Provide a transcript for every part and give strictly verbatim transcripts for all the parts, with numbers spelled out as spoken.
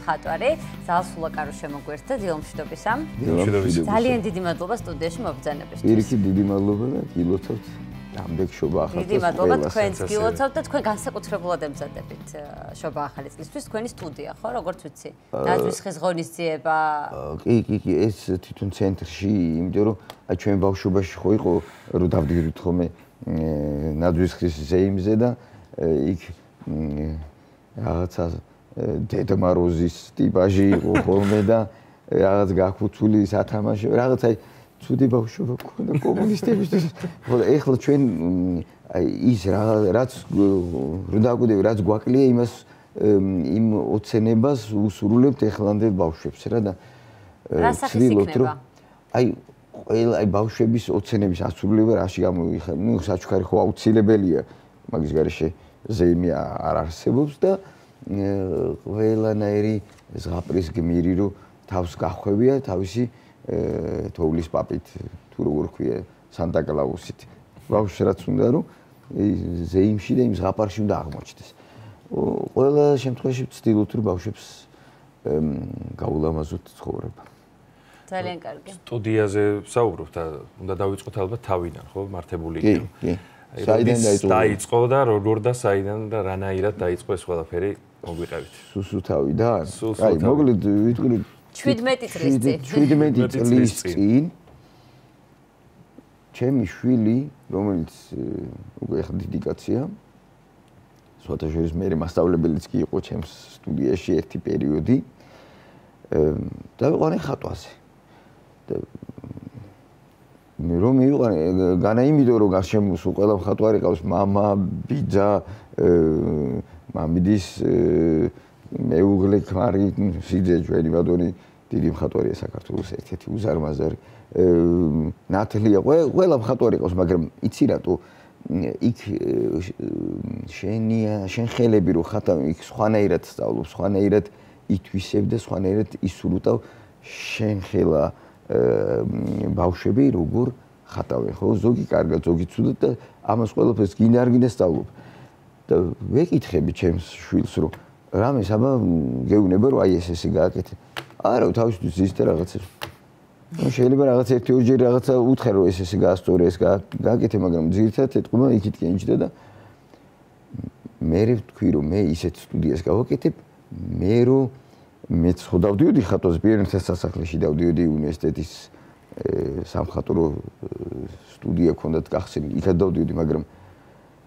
მხატვარი ზალსულა კარო შემოგვერთდა დილომშვიდობისა. ძალიან დიდი მადლობა სტუდიაში მობრძანებისთვის. პირიქით დიდი მადლობა და გილოცავთ ამდენ შობა ახალ დიდი მადლობა თქვენს გილოცავთ და თქვენ განსაკუთრებულად ემზადებით შობა ახალი წლისთვის თქვენი სტუდია ხო როგორც ვიცი ნაძვის ხის ღონისძიება კი კი კი ეს თვითონ ცენტრში იმიტომ რომ აი ჩვენ ბავშვობაში ხო იყო რომ დავდივდით ხოლმე ნაძვის ხის ზეიმზე და იქ რაღაცა დედა მაროზის ტიპაჟი იყო ხოლმე და რაღაც გახუცული სათამაშო რაღაც აი ცუდი ბავშვობა გქონდა კომუნისტებისთვის. ხო ეხლა ჩვენ აი ის რაც რო დაგვიდები რაც გვაკლია იმას იმ ოცნებას უსრულებთ ეხლანდელ ბავშვებს რა და ვცდილობთ რომ აი ყველა აი ბავშვების ოცნების ასრულება რაში გამოიხება. ნუ საჩუქარი ხო აუცილებელია მაგის გარეშე ზეიმი არ არსებობს და ყველანაირი ზღაპრის გმირი რო თავს გახვევია თავისი თოვლის პაპით თუ როგორ ქვია სანტა კლაუსით ბავშვს რაც უნდა რომ ზეიმში და იმ ზღაპარში უნდა აღმოჩნდეს. ყველა შემთხვევაში ვცდილობთ რომ ბავშვებს გაულამაზოთ ცხოვრება. ძალიან კარგი. სტუდიაზე ვსაუბრობთ და უნდა დავიწყოთ ალბათ თავიდან ხო მართებული იქნება. კი, კი. საიდან დაიწყო და როგორ და საიდან და რანაირად დაიწყო ეს ყველაფერი მოგვიყევით. სუსუთავიდან. აი მოკლედ ვიტყვი შვიდმეტი წლის წინ. შვიდმეტი წლის წინ ჩემი შვილი, რომელიც უკვე ახლა დიდი კაცია, სხვათა შორის მე მასწავლებელიც კი იყო ჩემს სტუდიაში ერთი პერიოდი. და ვიყავი ხატვაზე. და მე რომ მივიყავი განა იმიტომ რომ გარშემოს ყველა მხატვარი ყავს მამა, ბიძა, მამიდის მეუღლე ქმარი სიძე ჩვენი ბატონი დიდი მხატვარია საქართველოს ერთ-ერთი უზარმაზარი ნათლია ყველა მხატვარი ყავს მაგრამ იცი რატო იქ შენია შენ ხელები რო ხატავ იქ სხვანაირად სწავლობ სხვანაირად ითვისებ და სხვანაირად ისურუტავ შენ ხელა ბავშვები როგორ ხატავენ ხო ზოგი კარგად ზოგი ცუდად და ამას ყველაფერს გინდა არ გინდა სწავლობ და ვეკითხები ჩემს შვილს რომ რამეს აბა გეუბნება რომ აი ეს ესე გააკეთე. არა თავისთვის ზის და რაღაცებს. ну შეიძლება რაღაც ერთი ორჯერ რაღაცა უთხრე რომ ეს ესე გაასწორე ეს გააკეთე მაგრამ ძირითადად ეთყობა იქით კენჭდა და მე ვთქვი რომ მე ისეთ სტუდიას გავაკეთებ მე რომ მეც ხო დავდიოდი ხატვაზე პირენთა სასახლეში დავდიოდი უნივერსიტეტის სამხატვრო სტუდია ქონდათ გახსნილი იქაც დავდიოდი მაგრამ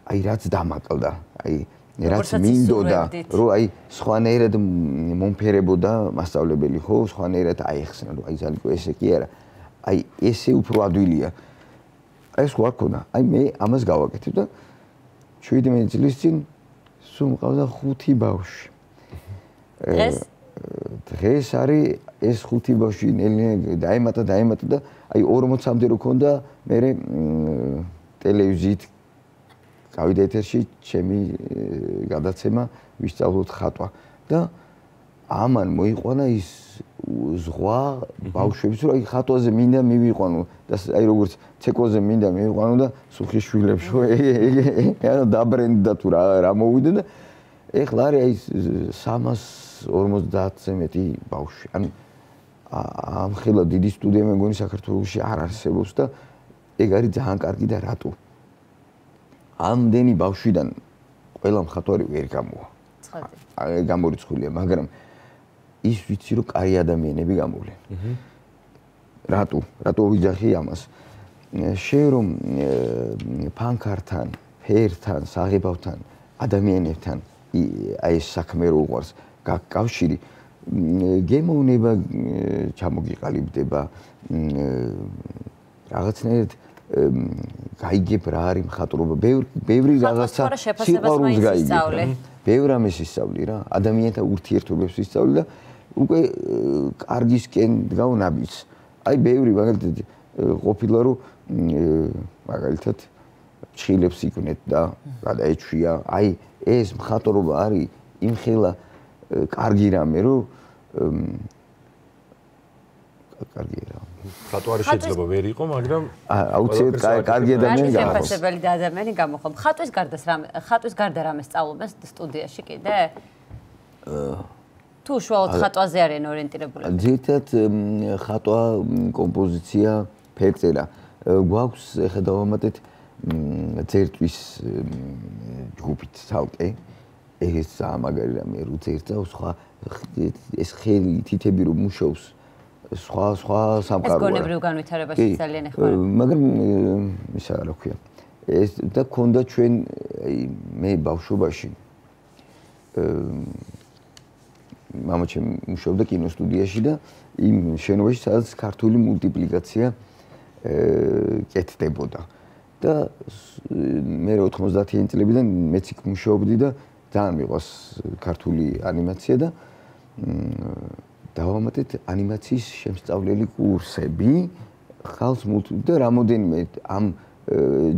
აი რაც დამაკლდა აი რაც მინდოდა რომ აი სხვანაირად მომფერებოდა მასწავლებელი ხო სხვანაირად აიხსნა რომ აი ზალიკო ესე კი არა აი ესე უფრო ადვილია აი ეს ხო არ ქონა აი მე ამას გავაკეთებ და შვიდმეტი წლის წინ სულ მყავდა ხუთი ბავშვი დღეს დღეს არის ეს ხუთი ბავშვი ნელ-ნელა დაემატა დაემატა და აი ორმოცამდე რო ქონდა მე ტელევიზიით გავიდა ეთერში ჩემი გადაცემა ვისწავლოთ ხატვა და ამან მოიყვანა ის ზღვა ბავშვებს რომ აი ხატვაზე მინდა მივიყვანო და აი როგორც ცეკვაზე მინდა მივიყვანო და სუხის შვილებს ხო ანუ დაბრენდა თუ რა რა მოვიდა და ეხლა არის აი სამას ორმოცდაათზე მეტი ბავშვი ანუ ამ ხელა დიდი სტუდია მე მგონი საქართველოში არ არსებობს და ეგ არის ძალიან კარგი და რატო ამდენი ბავშვიდან ყველა მხატვარი ვერ გამოვა. ცხადია. გამორიცხულია, მაგრამ ის ვიცი რომ კაი ადამიანები გამოვლენ. რატო? რატო ვიძახი ამას? შენ რომ ფანქართან, ფერთან, საღებავთან, ადამიანებთან აი ეს საქმე რო უყვარს, გაკავშირი გემოვნება ჩამოგიყალიბდება რაღაცნაირად გაიგებ რა არის მხატვრობა ბევრი რაღაცა სიყვარულს გაიგებ ბევრ ამას ისწავლი რა ადამიანთა ურთიერთობებს ისწავლი და უკვე კარგისკენ დგავ ნაბიჯს აი ბევრი მაგალითად ყოფილა რომ მაგალითად ჩხილებს იქნეთ და გადაეჩვია აი ეს მხატვრობა არის იმხელა კარგი რამე რომ კარგია რა ხატვარი შეიძლება ვერ იყო მაგრამ აუცილებლად კარგი ადამიანი გახოს შეფასებელი და ადამიანი გამოხო ხატვის გარდა რამე ხატვის გარდა რამე სწავლობენ სტუდიაში კიდე თუ უშუალოდ ხატვაზე არიან ორიენტირებული? ძირითადად ხატვა, კომპოზიცია, ფერწერა. გვაქვს ეხლა დავამატეთ ძერტვის ჯგუფით ცალკე. ეს სამაგარი რამე რო ძერტა სხვა ეს ხელი თითები რომ მუშაობს სხვა სხვა სამყაროა. ეს გონებრივ განვითარებაში ძალიან ეხმარება. მაგრამ ისა რა ქვია. ეს და ქონდა ჩვენ მე ბავშვობაში მამაჩემი მუშაობდა კინოსტუდიაში და იმ შენობაში სადაც ქართული მულტიპლიკაცია კეთდებოდა. და მე ოთხმოცდაათიანი წლებიდან მეც იქ მუშაობდი და ძალიან მიყვარს ქართული ანიმაცია და დავამატეთ ანიმაციის შემსწავლელი კურსები ხალხს მულტი და რამოდენიმე ამ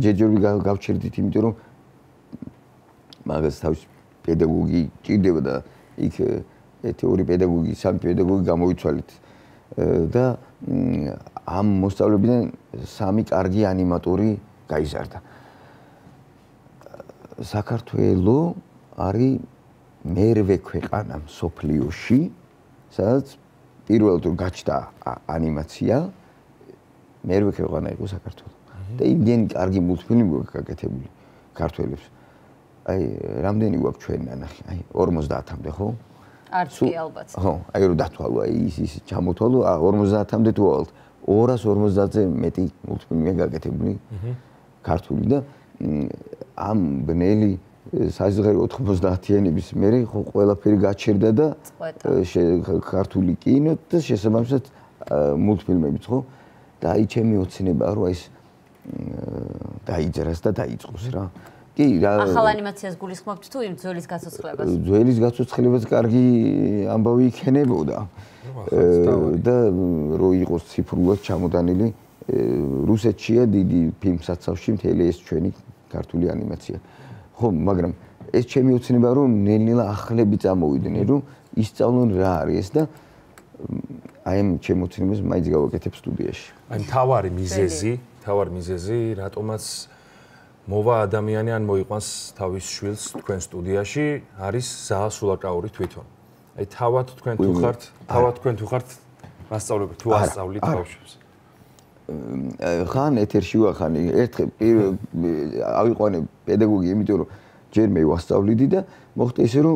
ჯერჯერობით გავჩერდით, იმიტომ რომ მაგას თავის პედაგოგი ჭირდება და იქ ერთი ორი პედაგოგი, სამი პედაგოგი გამოვიცვალეთ და ამ მოსწავლებიდან სამი კარგი ანიმატორი გაიზარდა. საქართველო არის მერვე ქვეყანა მსოფლიოში, სადაც პირველად რომ გაჩნდა ანიმაცია, მერვე ქვეყანა იყო საქართველო. და იმდენი კარგი მულტფილმი გვაქვს გაკეთებული ქართველებს. აი, რამდენი გვაქვს ჩვენ ნანახი? აი, ორმოცდაათამდე, ხო? არც კი ალბათ. ხო, აი რომ დათვალო, აი ის ის ჩამოთვალო, ორმოცდაათამდე თუ ავალთ. ორას ორმოცდაათზე მეტი მულტფილმია გაკეთებული ქართული და ამ ბნელი საზღერი ოთხმოცდაათიანების მერე ხო ყველაფერი გაჩერდა და ქართული კინო და შესაბამისად მულტფილმებიც ხო და აი ჩემი ოცნებაა რომ ეს დაიძრას და დაიწყოს რა. კი რა ახალ ანიმაციას გულისხმობთ თუ იმ ძვლის გაცოცხლებას? ძვლის გაცოცხლებას კარგი ამბავი იქნებოდა. და რო იყოს ციფრულად ჩამოტანილი რუსეთშია დიდი ფილმსაცავში მთელი ეს ჩვენი ქართული ანიმაცია. ხო, მაგრამ ეს ჩემი ოცნება რომ ნელ-ნელა ახლები წამოვიდნენ, რომ ისწავლონ რა არის ეს და აი ამ ჩემ ოცნებას მაინც გავაკეთებ სტუდიაში. აი მთავარი მიზეზი, მთავარი მიზეზი, რატომაც მოვა ადამიანი ან მოიყვანს თავის შვილს თქვენ სტუდიაში, არის ზაალ სულაკაური თვითონ. აი თავად თქვენ თუ ხართ, თავად თქვენ თუ ხართ მასწავლებელი თუ ასწავლით ბავშვებს. ხან ეთერში ვახანი, ერთხელ ავიყვანე პედაგოგი, იმიტომ რომ ჯერ მე ვასწავლიდი და მოხდა ისე რომ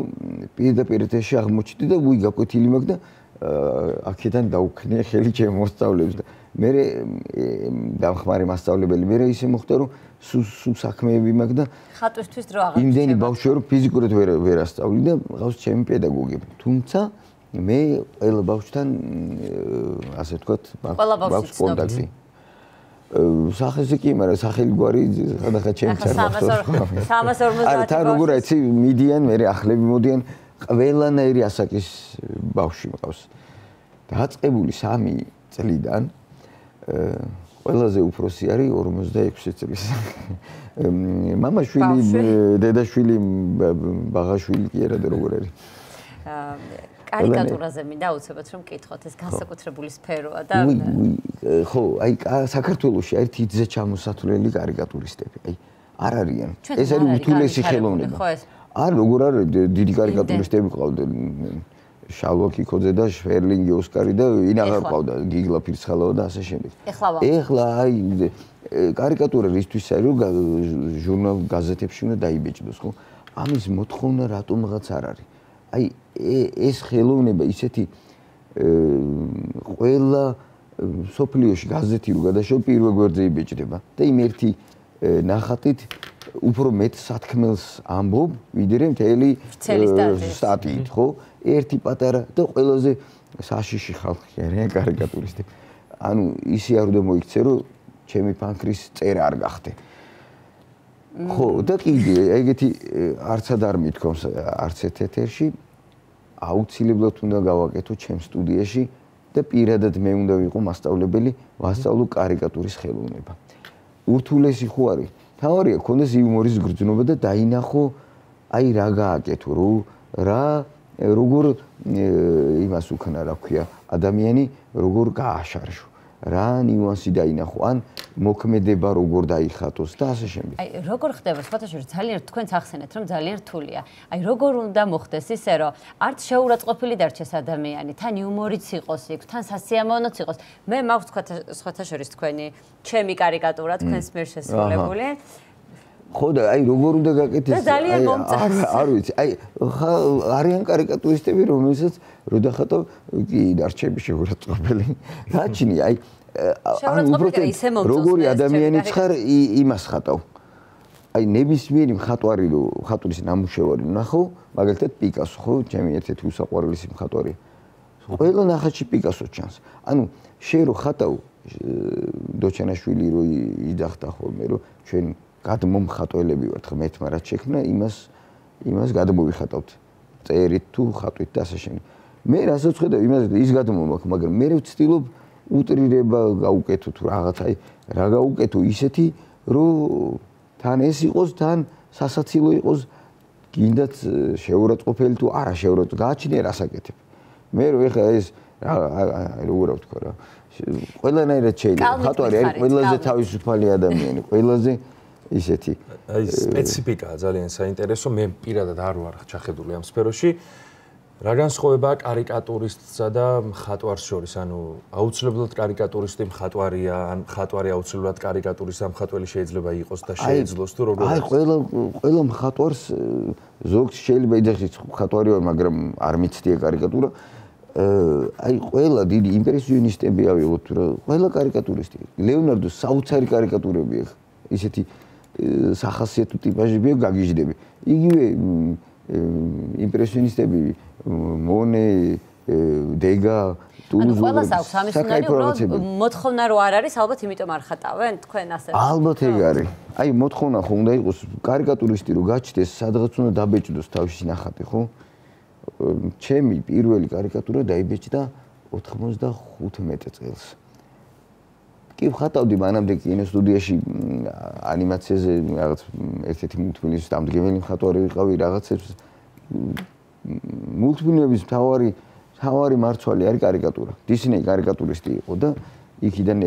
პირდაპირ ეთერში აღმოჩნდი და ვუი გაკვეთილი მაქვს და აქედან დაუქნია ხელი ჩემ მოსწავლეებს და მე დამხმარე მასწავლებელი მე ისე მოხდა რომ სულ საქმეები მაქვს და ხატვისთვის დრო აღარ იმდენი ბავშვია რომ ფიზიკურად ვერ ვერ ასწავლი და ყავს ჩემი პედაგოგები. თუმცა მე ყველა ბავშვთან ასე ვთქვათ მაქვს კონტაქტი. სახეზე კი, მაგრამ სახელი გვარი ხადახა ჩემს სამას ორმოცდაათი. არა, თან როგორ იცი, მიდიან, მე ახლები მოდიან, ყველანაირი ასაკის ბავშვი მყავს. დაწყებული სამი წლიდან ყველაზე უფროსი არის ორმოცდაექვსი წლის. მამაშვილი, დედაშვილი, ბაღაშვილი კი არა და როგორ არის. კარიკატურაზე მინდა აუცილებლად რომ მკითხოთ, ეს განსაკუთრებული სფეროა და ხო, აი საქართველოში არის თითზე ჩამოსათვლელი კარიკატურისტები. აი არ არიან. ეს არის უთულესი ხელოვნება. არ როგორ არის დიდი კარიკატურისტები ყავდნენ. შალვა კიკოძე და შვერლინგი ოსკარი და ვინ აღარ ყავდა, გიგლა ფირცხალავა და ასე შემდეგ. ეხლა აი კარიკატურა რისთვის არის რომ ჟურნალ გაზეთებში უნდა დაიბეჭდოს, ხო? ამის მოთხოვნა რატომღაც არ არის. აი ეს ხელოვნება ისეთი ყველა სოფლიოში გაზეთი რო გადაშო პირველ გვერდზე იბეჭდება და იმ ერთი ნახატით უფრო მეტ სათქმელს ამბობ, ვიდრე მთელი სტატიით, ხო? ერთი პატარა და ყველაზე საშიში ხალხი არიან კარიკატურისტები. ანუ ისე არ უნდა მოიქცე, რომ ჩემი ფანქრის წერა არ გახდე. ხო, და კიდე ეგეთი არცად არ მithქვამს არც ერთ ეთერში აუცილებლად უნდა გავაკეთო ჩემ სტუდიაში და პირადად მე უნდა ვიყო მასწავლებელი, ვასწავლო კარიკატურის ხელოვნება. ურთულესი ხო არის? თავარია ქონდეს იუმორის გრძნობა და დაინახო აი რა გააკეთო, რა როგორ იმას უქნა, რა ქვია, ადამიანი როგორ გააშარშო, რა ნიუანსი დაინახო, ან მოქმედება როგორ დაიხატოს და ასე შემდეგ. აი, როგორ ხდება სხვათაშორის ძალიან თქვენც ახსენეთ, რომ ძალიან რთულია. აი, როგორ უნდა მოხდეს ისე, რომ არც შეურაცხყოფილი დარჩეს ადამიანი, თან იუმორიც იყოს იქ, თან სასიამოვნოც იყოს. მე მაქვს სხვათაშორის თქვენი ჩემი კარიკატურა თქვენს მიერ შესრულებული. ხო და აი როგორ უნდა გაკეთდეს? აი, არ ვიცი. აი, არიან კარიკატურისტები, რომელსაც რო დახატო, კი დარჩები შეურაცხყოფელი. რაჩნი, აი როგორი ადამიანიც ხარ იმას ხატავ. აი ნებისმიერი მხატვარი რო მხატვრის ნამუშევარი ნახო, მაგალითად პიკასო, ხო, ჩემი ერთ-ერთი უსაყვარლესი მხატვარია. ყველა ნახატში პიკასო ჩანს. ანუ შენ რო ხატავ დოჩანაშვილი რო იძახდა ხოლმე, რომ ჩვენ გადმომხატველები ვართ, ღმერთმა რაც შექმნა, იმას იმას გადმოვიხატავთ. წერით თუ ხატვით და ასე შემდეგ. მე რასაც ხედავ, იმას ის გადმომაქვს, მაგრამ მე ვცდილობ უტრირება გაუკეთო თუ რაღაც, აი რა გაუკეთო ისეთი, რომ თან ეს იყოს, თან სასაცილო იყოს, გინდათ შეურაცხყოფელი თუ არა შეურაცხყოფელი, გააჩნია რას აკეთებ. მე რო ეხლა ეს როგორ ვთქვა რა, ყველანაირად შეიძლება, ხატვარი არის ყველაზე თავისუფალი ადამიანი, ყველაზე ისეთი აი სპეციფიკაა ძალიან საინტერესო, მე პირადად არ ვარ ჩახედული ამ სფეროში. რა განსხვავებაა კარიკატურისტსა და მხატვარს შორის? ანუ აუცილებლად კარიკატურისტი მხატვარია, ან მხატვარი აუცილებლად კარიკატურისტი, ამ მხატველი შეიძლება იყოს და შეეძლოს თუ როგორ? აი ყველა ყველა მხატვარს ზოგს შეიძლება იძახის მხატვარი ვარ, მაგრამ არ მიცდია კარიკატურა. აი ყველა დიდი იმპრესიონისტები ავიღოთ თუ რა, ყველა კარიკატურისტი. ლეონარდოს საოცარი კარიკატურები აქვს. ისეთი სახასიათო ტიპაჟები გაგიჟდები. იგივე იმპრესიონისტები მონე, დეგა, ტულუზი. ანუ ყველას აქვს ამის უნარი, უბრალოდ მოთხოვნა რო არ არის, ალბათ იმიტომ არ ხატავენ თქვენ ასე. ალბათ ეგ არის. აი მოთხოვნა ხო უნდა იყოს კარიკატურისტი რო გაჩნდეს, სადღაც უნდა დაბეჭდოს თავისი ნახატი, ხო? ჩემი პირველი კარიკატურა დაიბეჭდა ოთხმოცდახუთმეტ წელს. კი ვხატავდი მანამდე კინოსტუდიაში ანიმაციაზე რაღაც ერთ-ერთი მულტფილმის დამდგმელი მხატვარი ვიყავი, რაღაცებს მულტფილმების მთავარი მთავარი მარცვალი არის კარიკატურა. დისნეი კარიკატურისტი იყო და იქიდან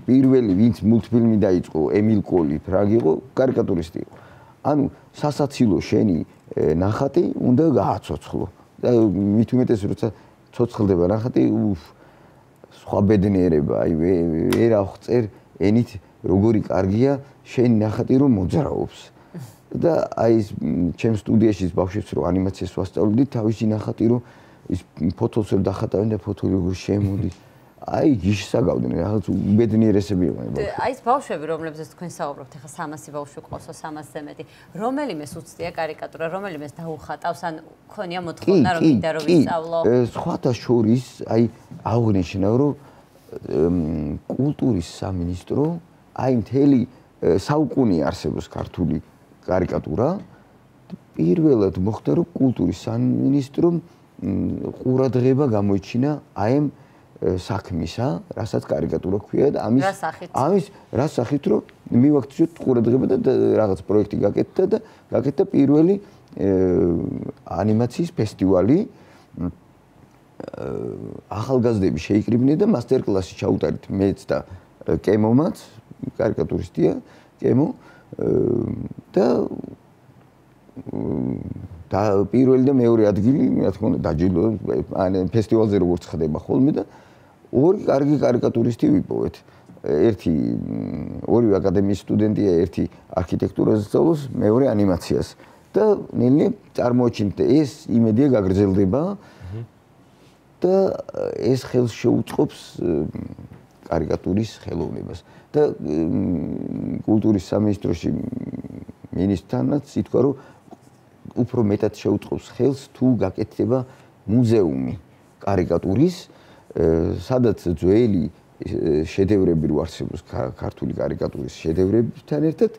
პირველი ვინც მულტფილმი დაიწყო, ემილ კოლი ფრაგ იყო, კარიკატურისტი იყო. ანუ სასაცილო შენი ნახატი უნდა გააცოცხლო. და მით უმეტეს როცა ცოცხლდება ნახატი, უფ სხვა ბედნიერება, აი ვერ აღწერ ენით როგორი კარგია შენი ნახატი რომ მოძრაობს. და აი ეს ჩემ სტუდიაში ის ბავშვებს რო ანიმაციას ვასწავლობდი, თავისი ნახატი რომ ის ფოტოს რო დახატავენ და ფოტო როგორ შემოდის. აი გიშსაგავდნენ რაღაც ბედნიერესები იყვნენ. აი ეს ბავშვები, რომლებზეც თქვენ საუბრობთ, ახლა სამასი ბავშვი ყავსო, სამასზე მეტი. რომელიმეს უცდია კარიკატურა, რომელიმეს დაუხატავს, ან ქონია მოთხოვნა რომ მინდა რომ ვისწავლო. სხვათა შორის, აი აღნიშნა რომ კულტურის სამინისტრო, აი მთელი საუკუნე არსებობს ქართული კარიკატურა. პირველად მოხდა რომ კულტურის სამინისტრომ ყურადღება გამოიჩინა აი ამ საქმისა, რასაც კარიკატურა ქვია და ამის ამის რა სახით რომ მივაქციოთ ყურადღება და რაღაც პროექტი გაკეთდა და გაკეთდა პირველი ანიმაციის ფესტივალი. ახალგაზრდები შეიკრიბნენ და მასტერ-კლასი ჩაუტარეთ მეც და კემომაც, კარიკატურისტია, კემო და და პირველი და მეორე ადგილი, რა თქმა უნდა, დაჯილდო ან ფესტივალზე როგორც ხდება ხოლმე და ორი კარგი კარიკატურისტი ვიპოვეთ. ერთი ორივე აკადემიის სტუდენტია, ერთი არქიტექტურაზე სწავლობს, მეორე ანიმაციას. და ნელ-ნელა წარმოაჩინეთ ეს იმედია გაგრძელდება და ეს ხელს შეუწყობს კარიკატურის ხელოვნებას. და კულტურის სამინისტროში მინისტრთანაც ითქვა, რომ უფრო მეტად შეუწყობს ხელს თუ გაკეთდება მუზეუმი კარიკატურის, სადაც ძველი შედევრები რო არსებობს ქართული კარიკატურის შედევრებთან ერთად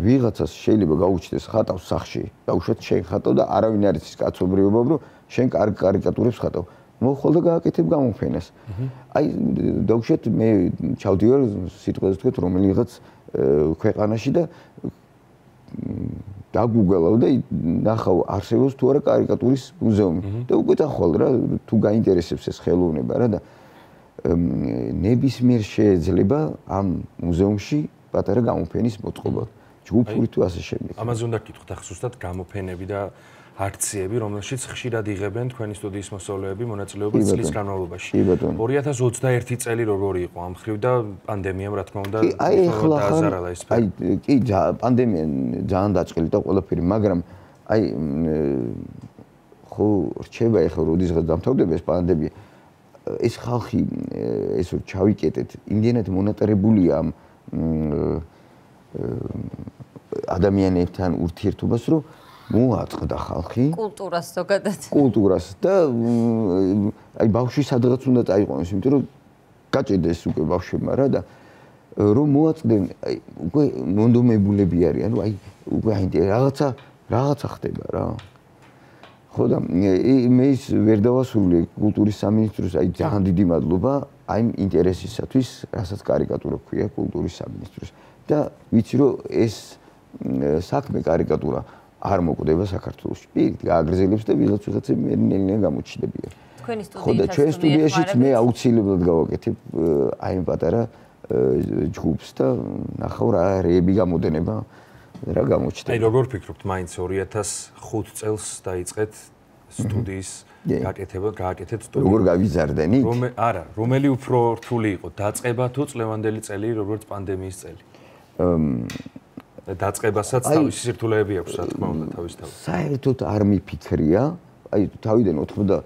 ვიღაცას შეიძლება გაუჩნდეს ხატავს სახში, დაუშვათ შენ ხატავ და არავინ არ იცის კაცობრიობა, რომ შენ კარგ კარიკატურებს ხატავ. მოხვალ და გააკეთებ გამოფენას. აი დაუშვათ მე ჩავდივარ სიტყვაზე თქვით რომელიღაც ქვეყანაში და დაგუგლავ და ნახავ არსებობს თუ არა კარიკატურის მუზეუმი და უკვე დახვალ რა თუ გაინტერესებს ეს ხელოვნება რა და ნებისმიერ შეიძლება ამ მუზეუმში პატარა გამოფენის მოწყობა. ჯგუფური თუ ასე შემდეგ. ამაზე უნდა გკითხოთ ახლა ზუსტად გამოფენები და აქციები, რომელშიც ხშირად იღებენ თქვენი სტუდიის მოსწავლეები მონაწილეობას წლის განმავლობაში. ორი ათას ოცდაერთი წელი როგორი იყო ამ ხრივ და პანდემიამ რა თქმა უნდა დააზარალა ეს სფერო. აი კი პანდემია ძალიან დაწყილი და ყველაფერი, მაგრამ აი ხო რჩება ახლა როდესაც დამთავრდება ეს პანდემია ეს ხალხი ესე ჩავიკეტეთ იმდენად მონატრებულია ამ ადამიანებთან ურთიერთობას რომ მოაწყდა ხალხი კულტურას ზოგადად კულტურას და აი ბავშვი სადღაც უნდა წაიყვანოს იმიტომ რომ გაჭედეს უკვე ბავშვებმა რა და რომ მოაწყდნენ აი უკვე მონდომებულები არიან რომ აი უკვე აი რაღაცა რაღაცა ხდება რა ხო და მე ის ვერ დავასრულე კულტურის სამინისტროს აი ძალიან დიდი მადლობა აი ინტერესისათვის რასაც კარიკატურა ქვია კულტურის სამინისტროს და ვიცი რომ ეს საქმე კარიკატურა არ მოკვდება საქართველოში. პირით გააგრძელებს და ვიღაც ვიღაცები მერინელიან გამოჩნდებიან. თქვენი სტუდიით ხო და ჩვენ სტუდიაშიც მე აუცილებლად გავაკეთებ აი ამ პატარა ჯგუფს და ნახავ რა რეები გამოდენება რა გამოჩნდება. აი როგორ ფიქრობთ მაინც ორი ათას ხუთ წელს დაიწყეთ სტუდიის გაკეთება, გააკეთეთ სტუდია. როგორ გავიზარდენით? რომე არა, რომელი უფრო რთული იყო, დაწყება თუ წლევანდელი წელი, როგორც პანდემიის წელი? დაწყებასაც თავისი სირთულეები აქვს, რა თქმა უნდა, თავის თავად. საერთოდ არ მიფიქრია, აი თავიდან ოთხმოცდა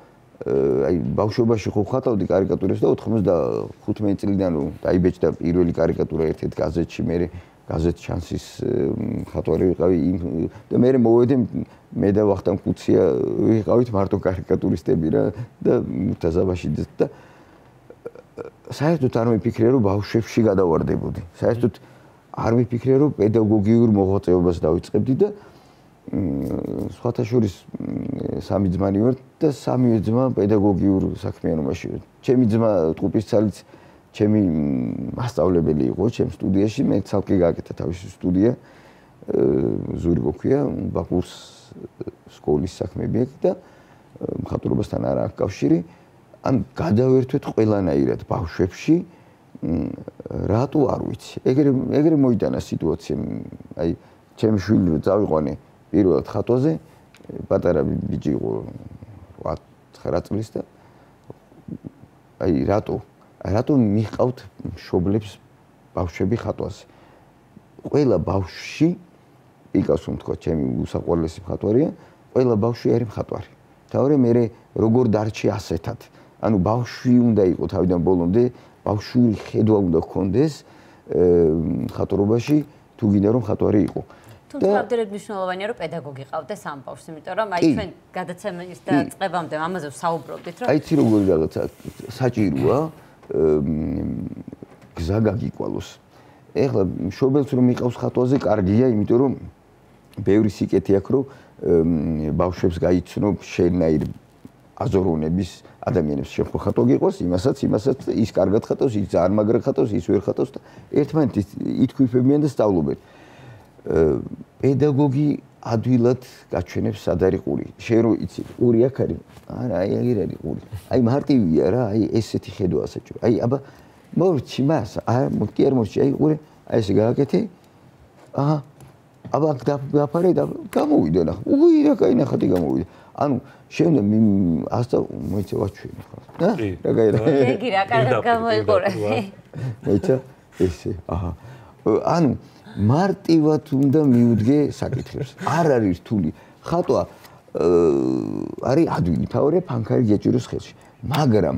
აი ბავშვობაში ხო ხატავდი კარიკატურებს და ოთხმოცდახუთმეტი წლიდან რომ დაიბეჭდა პირველი კარიკატურა ერთ-ერთ გაზეთში, მე გაზეთ შანსის ხატვარი ვიყავი და მე მოვედე მე და ვახტანგ კუცია ვიყავით მარტო კარიკატურისტები რა და მუთაზაბაში და საერთოდ არ მიფიქრია რომ ბავშვებში გადავარდებოდი. საერთოდ არ მიფიქრია რომ პედაგოგიურ მოღვაწეობას დავიწყებდი და სხვათა შორის სამი ძმანი ვართ და სამივე ძმა პედაგოგიურ საქმიანობაში. ჩემი ძმა ტყუპისცალიც ჩემი მასწავლებელი იყო ჩემ სტუდიაში, მე ცალკე გააკეთა თავისი სტუდია ზურგო ქვია, ბაკუს სკოლის საქმეები აქვს და მხატვრობასთან არ აქვს კავშირი. ან გადავერთვეთ ყველანაირად ბავშვებში რატო არ ვიცი. ეგრე ეგრე მოიტანა სიტუაცია. აი ჩემი შვილი რო წავიყვანე პირველად ხატვაზე, პატარა ბიჭი იყო ოთხ ცხრა წლის და აი რატო რატო მიყავთ მშობლებს ბავშვები ხატვაზე. ყველა ბავშვი პიკასო თქვა ჩემი უსაყვარლესი მხატვარია, ყველა ბავშვი არის მხატვარი. თავი მე როგორ დარჩი ასეთად. ანუ ბავშვი უნდა იყოს თავიდან ბოლომდე ბავშვური ხედვა უნდა გქონდეს მხატვრობაში თუ გინდა რომ მხატვარი იყო. თუმცა ამდენად მნიშვნელოვანია რომ პედაგოგი ყავდეს ამ ბავშვს, იმიტომ რომ აი ჩვენ გადაცემის და წებამდე ამაზე ვსაუბრობდით რომ აი ცი როგორი რაღაცა საჭიროა გზა გაგიკვალოს. ეხლა მშობელს რომ იყავს ხატვაზე კარგია, იმიტომ რომ ბევრი სიკეთე აქვს რომ ბავშვებს გაიცნო შენაირ აზორონების ადამიანებს შენ ხო ხატვა გიყავს, იმასაც, იმასაც ის კარგად ხატავს, ის ძალიან მაგრად ხატავს, ის ვერ ხატავს და ერთმანეთს ითქვიფებიან და სწავლობენ. პედაგოგი ადვილად გაჩვენებს სად არის ყური. შენ რო იცი, ყური აქ არის? არა, აი ეგ არის ყური. აი მარტივია რა, აი ესეთი ხედვა საჭირო. აი აბა მორჩი მას, აა მოკი არ მორჩი, აი ყური, აი ესე გააკეთე. აჰა. აბა დაფარე და გამოვიდა ნახე. უი რა кай ნახატი გამოვიდა. ანუ შემდეგ ასწავლ მოიცა ვაჩვენე ხო? და რა кай რა. ეგი რა კარგად გამოიყურე. მოიცა ესე, აჰა. ანუ მარტივად უნდა მიუდგე საკითხებს. არ არის რთული. ხატვა არის ადვილი, თავი ფანქარი გეჭიროს ხელში. მაგრამ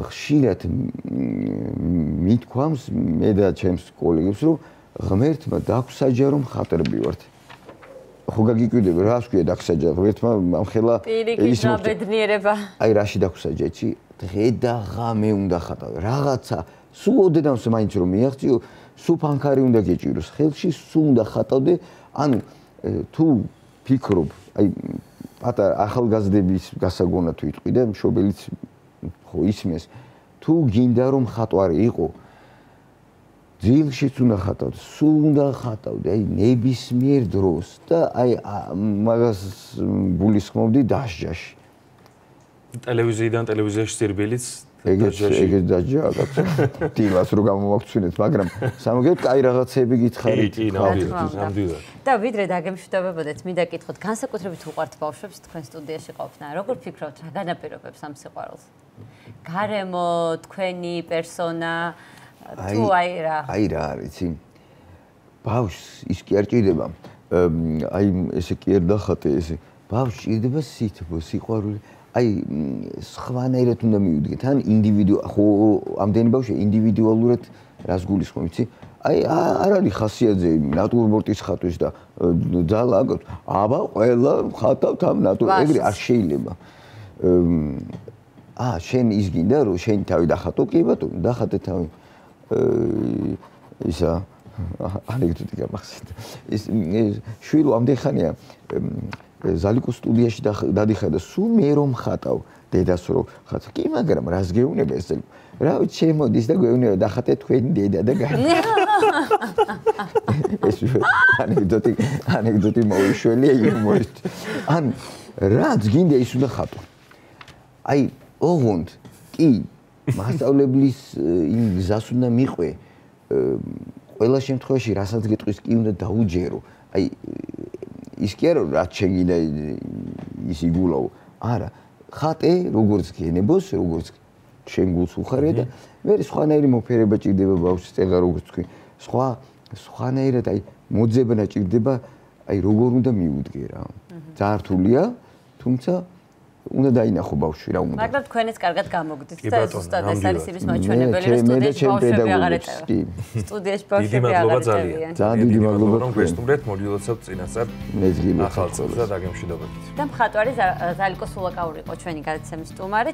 ხშირად მithქვამს მე და ჩემს კოლეგებს რომ ღმერთმა დაგვსაჯა რომ ხატრები ვართ. ხო გაგიკვირდება რა ვსქვია დაგვსაჯა ღმერთმა ამ ხელა ის მობედნიერება. აი რაში დაგვსაჯა იცი? დღე და ღამე უნდა ხატავ. რაღაცა სულ ოდენავს მაინც რომ მიაღწიო სულ ფანქარი უნდა გეჭიროს ხელში, სულ უნდა ხატავდე. ანუ თუ ფიქრობ, აი პატარა ახალგაზრდების გასაგონად ვიტყვი და მშობელიც ხო ისმეს, თუ გინდა რომ ხატვარი იყო, ძილშიც უნდა ხატავდე, სულ უნდა ხატავდე, აი ნებისმიერ დროს და აი მაგას გულისხმობდი დასჯაში. ტელევიზიიდან ტელევიზიაში სირბილიც ეგეც ეგეც დაჯა კაცო. დილას რო გამოვაქცინეთ, მაგრამ სამოგეთ კაი რაღაცები გითხარით. კი, ნამდვილად. და ვიდრე დაგემშვიდობებოდეთ, მინდა გითხოთ, განსაკუთრებით უყვართ ბავშვებს თქვენ სტუდიაში ყოფნა. როგორ ფიქრობთ, რა განაპირობებს ამ სიყვარულს? გარემო, თქვენი პერსონა, თუ აი რა? აი რა არის, იცი? ბავშვს ის კი არ ჭირდება. აი ესე კი არ დახატე ესე. ბავშვს ჭირდება სითბო, სიყვარული. აი სხვანაირად უნდა მივიდგეთ, ან ინდივიდუალ, ხო, ამდენი ბავშვი ინდივიდუალურად რას გულისხმობ, იცი? აი არ არის ხასიათზე ნატურმორტის ხატვის და ძალა აქვს. აბა ყველა ხათავთ ამ ნატურ, ეგრე არ შეიძლება. აა შენ ის გინდა რომ შენი თავი დახატო, კი ბატონო, დახატე თავი. ისა ანეკდოტი გამახსენდა. ის შვილო ამდენ ხანია ზალიკოს სტუდიაში დადიხარ და სულ მე რომ ხატავ დედას რომ ხატ. კი, მაგრამ რას გეუბნება ეს? რა ვიცი, შემოდის და გვეუბნება დახატე თქვენი დედა და გაი. ეს ანეკდოტი ანეკდოტი მოიშველი იუმორისტ. ან რაც გინდა ის უნდა ხატო. აი, ოღონდ კი მასწავლებლის იმ გზას უნდა მიყვე. ყველა შემთხვევაში რასაც გეტყვის კი უნდა დაუჯერო. აი ის კი არა რაც შეგინდა ის იგულაო. არა, ხატე როგორც გენებოს, როგორც შენ გულს უხარია და მე სხვანაირი მოფერება ჭირდება ბავშვის წეღა როგორც თქვი. სხვა სხვანაირად აი მოძებნა ჭირდება, აი როგორ უნდა მიუდგე რა. ძალიან რთულია, თუმცა უნდა დაინახო ბავშვი რა უნდა. მაგრამ თქვენიც კარგად გამოგდით და ზუსტად ეს არის იმის მაჩვენებელი, რომ სტუდიაში ბავშვები აღარ ეწევიან. სტუდიაში ბავშვები აღარ ეწევიან. ძალიან დიდი მადლობა რომ გვესტუმრეთ, მოდივლოცავთ წინასწარ მეც გილოცავთ ახალ წელს და დაგემშვიდობებით. და მხატვარი ზალიკო სულაკაური იყო ჩვენი გადაცემის სტუმარი.